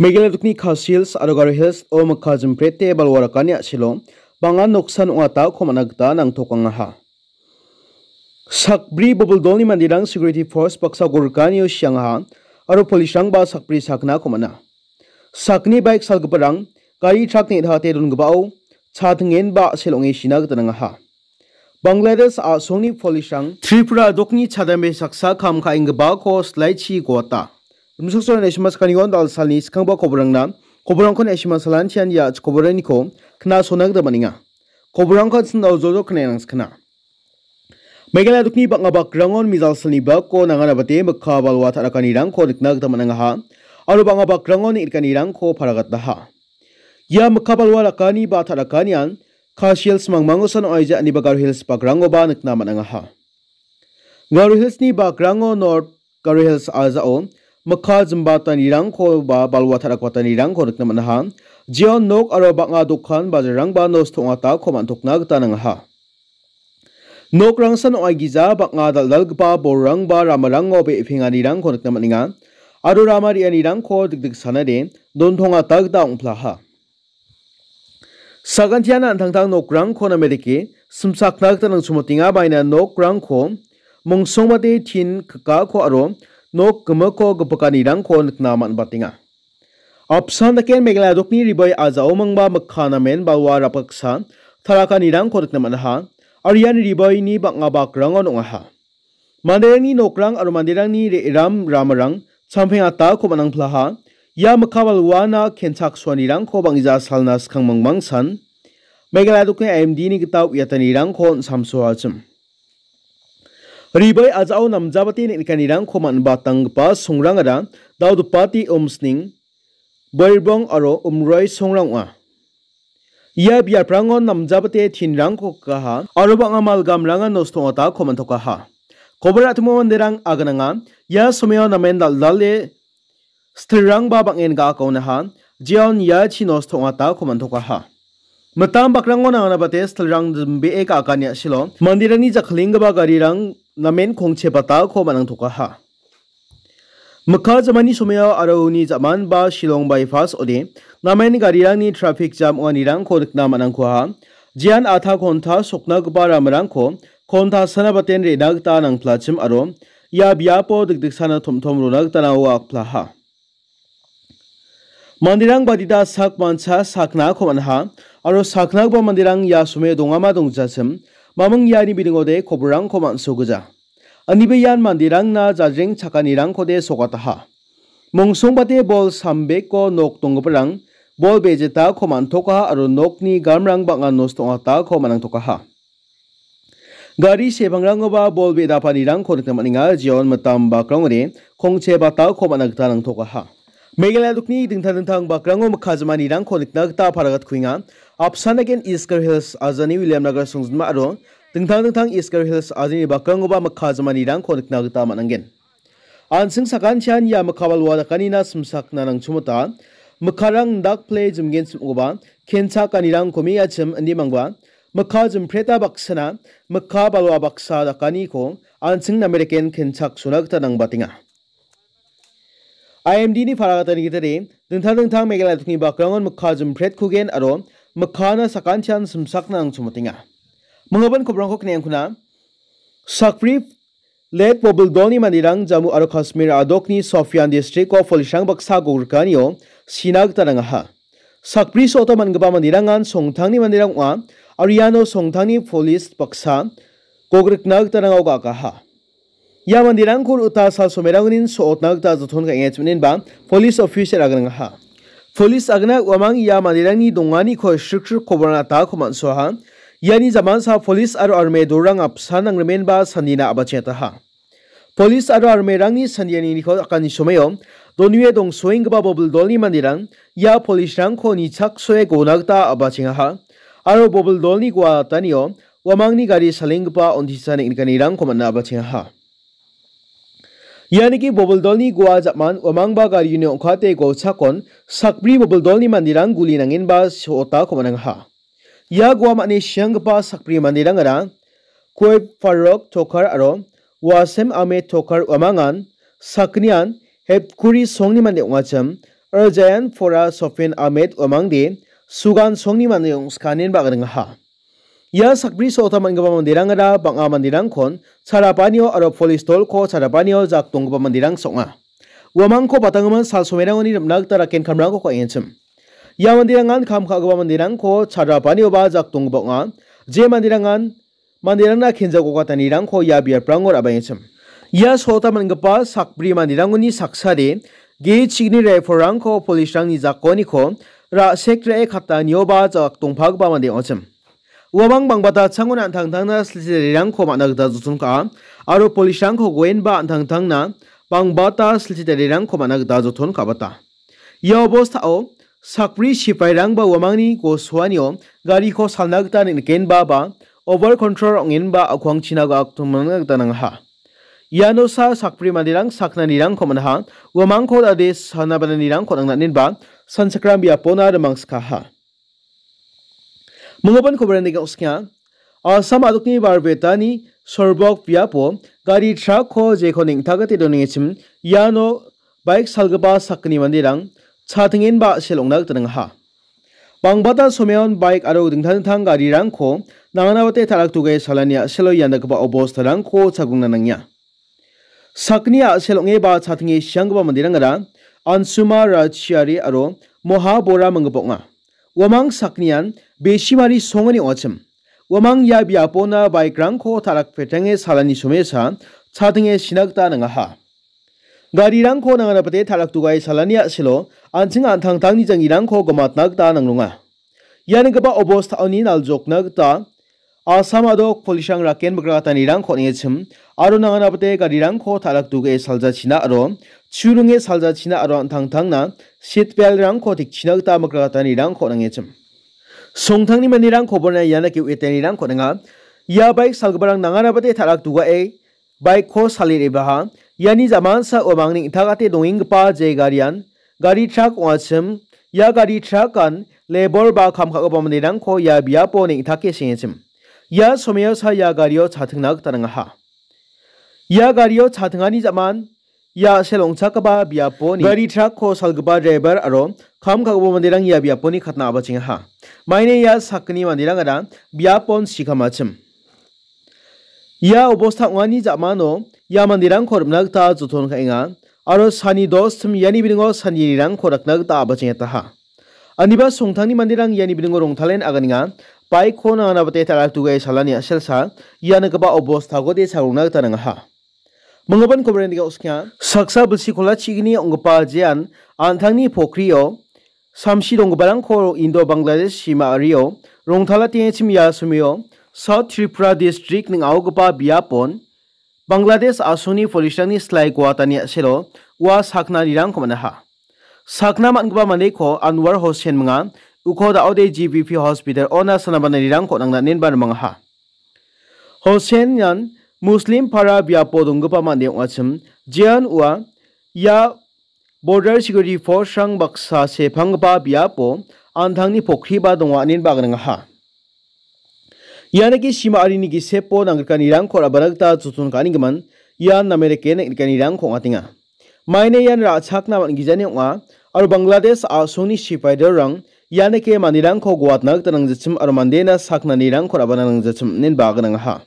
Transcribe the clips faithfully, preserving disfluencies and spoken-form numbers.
Meghalaya dokni Khasi Hills aro Garo Hills o mikka jimprete balwa rakani a·selo bang·a noksan ong·atako man·a gita nangtokangaha. Sakbri boboldolni manderang security force baksa gorkanio siangaha aro police-rangba sakbri saknako man·a. Sakni baik salgiparang gari trak ne·dahate dongipao chatingenba a·sel ong·e sina gita nangaha. Bangladesh a·songni police-rang Tripura dokni chadambe saksa kam ka·enggipako silaichi goata. Rimchaksoani naisima sakanion dalsalni skangba koborangna, koborangko naisima salantian ia koboraniko knasona gita man·enga. Koborangko an·sing daljolo knaenangskana. Meghalaya dokni bang·a bakrangon mijalsalni bako nanganabate mikka balwa ta·rakanirangko nikna gita man·angaha. Aro bang·a bakrangon neng·rikanirangko paragataha. Ia mikka balwa rakani ba ta·rakanian Khasi Hills mangmangosan ong·aija aniba Garo Hills bakrangoba nikna man·angaha. Garo Hills-ni bakrango North Garo Hills a·jao mikka jimbatanirangko ba balwa ta·rakbatanirangko nikna man·aha. Jeon nok aro bang·a dokan bajarrangba nosto ong·atako man·tokna gita nangaha. Nokrangsan ong·aigija bang·a dal·dalgipa bolrangba ramarango be·penganirangko nikna man·enga. Aro rama re·anirangko dikdiksanade dontongata gita ong·plaha. Sagantian an·tangtang nokrangko namerike simsakna gita nangchumotenga, baina nokrangko mongsongbate tin kikako aro nok gimikko gipikanirangko nikna man·batenga. Apsan daken Meghalaya dokni Ribai a·jaomingba mikka namen balwa rapgiksa tarakanirangko nikna man·aha, aro ian Ribaini bang·a bakrangon ong·aha. Manderangni nokrang aro manderangni re·ram ramarang champeng atako man·angplaha. Ia mikka balwana kenchaksoanirangko bang·gija salna skang mangmangsan Meghalaya dokni I M D-ni gita uiatanirangko on·samsoachim. Ribai a·jao namjabate neng·nikanirangko man·batanggipa songrangara Daudipati Umsning, Boirbong aro Umroi songrang ong·a. Ia biaprangon namjabate tinrangko kikaha aro bang·a malgamrangan nosto ong·atako man·tokaha. Kobor a·timo manderang agananga ia somao namen dal·dale stilrangba bang·en ga·akaonaha, jeon iachi nosto ong·atako man·tokaha. Mitam bakrango nanganabate stilrang jimbee ga·akani a·selo manderangni jakkalenggipa garirang namen kongche batako man·angtokaha. Mikka jamani somao aro uni ja·manba Shillong bypass ode namen garirangni traffic jam ong·anirangko nikna man·angkuaha. Jean atha konta soknagipa ramarangko konta sana baten re·na gita nangplachim aro ia biapo dikdiksana tom·tom rona gita nao akplaha. Manderang badita sak mancha saknako man·aha aro saknagipa manderang ia somao dongama dongjachim, maming iani bidingode koborrangko man·sogija. Aniba ian manderangna jajreng chakanirangkode sokataha. Mongsongbate bol sambeko nok donggiparang bol bejetako man·tokaha aro nokni gamrang bang·a nosto ong·atako man·angtokaha. Gari sepangrangoba bol be·dapanirangko nikna man·enga, jeon mitam bakrangode kongche batako man·a gita nangtokaha. Meghalaya dokni dingtang dingtang bakrango mikka jamanirangko nikna gita paragatkuenga. Apsan daken East Garo Hills ajani Williamnagar songjinma aro dingtang dingtang East Garo Hills ajani bakrangoba mikka jamanirangko nikna gita man·angen. An·ching sakantian ia mikka balwa dakanina simsakna nangchimota, mikkarang indakple jimgenchim ong·gipa kenchakanirang komeachim indimangba, mikka jimpreta baksana, mikka balwa baksa dakaniko an·ching nameriken kenchaksona gita nangbatenga. I M D-ni paragatani gitade, dingtang dingtang Meghalaya dokni bakrangon mikka jimpretkugen aro mikkana sakantian simsakna nangchimotenga. Manggipan koborangko kneangkuna, sakbri Let bobil dolni manderang Jammu aro Kashmir a·dokni Shopian district-o police-rang baksa gogrikanio sina gita nangaha. Sakbri so·ota man·gipa manderangan Songtangni manderang ong·a, aro iano Songtangni police baksa gogrikna gita nangao ga·akaha. Ia manderangko ro·ota sal somerangnin so·otna gita joton ka·enga chimen·enba police officer aganangaha. Police agna uamang ia manderangni donganiko srik srik koborna atako man·soaha. Iani jamansa police aro army dorang apsan nangrimenba sandina a·bachengataha. Police aro armyrangni sandianiko dakani somao, Donue dongsoenggipa bobil dolni manderang ia police-rangko nichaksoe gona gita a·bachengaha, aro bobil dolni guatanio uamangni gari salenggipa on·tisa neng·nikanirangko man·a a·bachengaha. Ianiki bobil dolni gua ja·man uamangba garini ong·kate golchakon sakbri bobil dolni manderang guli nangenba so·otako man·angaha. Ia gua man·e sianggipa sakbri manderangara Kuep Farok Tokar aro Wasem Ahmed Tokar uamangan sakgnian Hepkuri songni mande ong·achim, Arjayan Pora Sofin Ahmed uamangde Sugan songni mande ong·skanin ba·gringaha. Ia sakbri sota man·gipa manderangara bang·a manderangkon charapanio aro polis dolko charapanio jak donggipa manderang song·a. Uamangko batanggimin sal somerangoni rimna gita raken kamrangko ka·enchim. Ia manderangan kam ka·gipa manderangko charapanioba jak donggipa ong·a. Je manderangan manderangna kenjako katanirangko ia biaprango ra·baengchim. Ia sota man·gipa sakbri manderangoni saksade ge chigni raifolrangko polisrangni jakoniko ra·sek ra·e katanioba jak dongpagipa mande ong·achim. Uamang bangbata changona an·tangtangna silchi tarirangko man·a gita joton ka·a aro polisrangko goenba an·tangtangna bangbata silchi tarirangko man·a gita joton ka·bata. Ia obostao sakbri sipairangba uamangni gosoanio gariko salna gita neng·nikenba ba over control ong·enba akwangchina ga·aktomna gita nangaha. Iano sa sakbri manderang saknanirangko man·aha, uamangko dade sanabananirangko nang·nanenba sanchakram biapona rimangskaha. Minggipa kobaran dega uskia. Assam adokni Barbetani sorbok biapo gari trakko jeko neng·takate donengachim iano baik salgipa sakgni manderang chatengenba a·sel ong·na gita nangaha. Bangbata someon baik aro dingtang dingtang garirangko nanganabate ta·rakdoge salani a·selo ian dakgipa obostarangko chagrongna nangenga. Sakni a·sel ong·eba chatenge sianggipa manderangara Ansuma Rachiari aro Moha Bora minggipa ong·a. Uamang saknian besimari songani ong·achim. Uamang ia biapona bike-rangko ta·rakpetenge salani somesa chatenge sina gita nangaha. Garirangko nanganabate ta·rakdogae salani a·selo an·ching an·tangtangni janggirangko gimatna gita nangronga. Ia nikgipa obostaoni naljokna gita Assam adok polisrang raken mikrakatanirangko on·engachim aro nanganabate garirangko ta·rakdoge saljachina aro churinge saljachina aro an·tangtangna seat belt-rangko tekchina gita mikrakatanirangko on·engachim. Songtangni manderang koborna iana ge·etanirangko on·enga. Ia baik salgiparang nanganabate ta·rakdogae baik-ko sale re·baha. Iani jamansa uamang neng·takate dongenggipa je garian gari trak ong·achim. Ia gari trakan lebor ba kam ka·gipa manderangko ia biapo neng·take sengechim. Ia someosa ia gario chatingna gita nangaha. Ia gario chatingani jaman ia a·sel ong·chakgipa biaponi gari trakko salgipa driver aro kam ka·gipa manderang ia biaponi katna a·bachengaha. Maina ia sakgni manderangara biapon sikamachim. Ia obosta ong·ani ja·mano ia manderangko rimna gita joton ka·enga aro sani dos tim iani bilingo sandirangko rakna gita a·bachengetaha. Aniba songtangni manderang iani bilingo rongtalen aganenga, baik-ko nanganabate ta·rakdoge salani a·selsa ia nikgipa obostagode chagrongna gita nangaha. Minggipa kobaran dega uskia. Saksa bilsi kola chigini ong·gipa jean an·tangni pokrio samsi donggiparangko Indo-Bangladesh sima ario rongtalatengachim ia somio South Tripura District ning·aogipa biapon Bangladesh a·songni polisrangni silai guatani a·selo ua saknanirangko man·aha. Sakna man·gipa mandeko Anwar Hossain minga, uko da·ode G B P hospital ona sanabananirangko nangnanen ba rimangaha. Hossain ian Muslim para biapo donggipa mande ong·achim, jean ua ia Border Security Force-rang baksa sepanggipa biapo an·tangni pokriba donga inen ba gringaha. Ianaki sima arini gisepo nangrikanirangko rabana gita joton ka·anigimin ian name dake neng·rikanirangko ong·atenga. Maina ian ra·chakna man·gijani ong·a aro Bangladesh a·songni sipaidorrang ianaki manderangko guatna gita nangjachim aro mandena saknanirangko rabana nangjachim inen ba gringaha.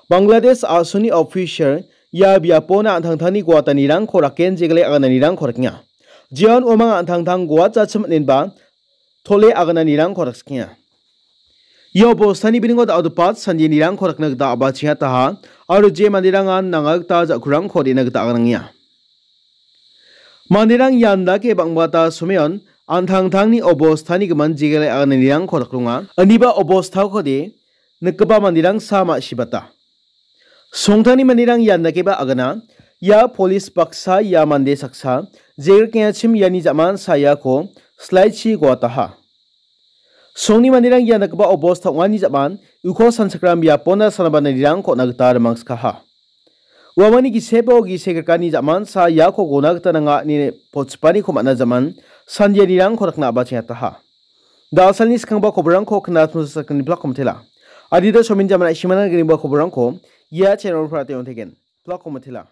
Bangladesh a·songni official ia biapona an·tangtangni guatanirangko raken jegale agananirangko rikenga. Jeon uamang an·tangtang guatjachim inen ba tole agananirangko rikskenga. Ia bostani biningo da·odepat sandenirangko rikna gita a·bachengataha aro je manderangan nanga gita ja·kurangko re·na gita aganangenga. Manderang ian dake bang·bata someon an·tangtangni obostani gimin jegale agananirangko dakronga. Aniba obostakode nikgipa manderangsa ma·sibata. Songtangni manderang ian dakeba agana. Ia polis baksa ia mande saksa jegrikengachim iani ja·man sa iako silaichi guataha. Songni manderang ia nikgipa obosta ong·ani ja·man uko sanchakram biapona sanabananirangko on·a gita rimangskaha. Uamangni gisepo gisek rikani ja·man sa iako gona gita nanga ine pochipaniko man·a ja·man sandianirangko rikna a·bachengataha. Da·salni skangba koborangko knatna sakgni plak komitela. Adita somin jaman aishimana gniba koborangko ia channel-o pra teng·tegen. Plak komitela.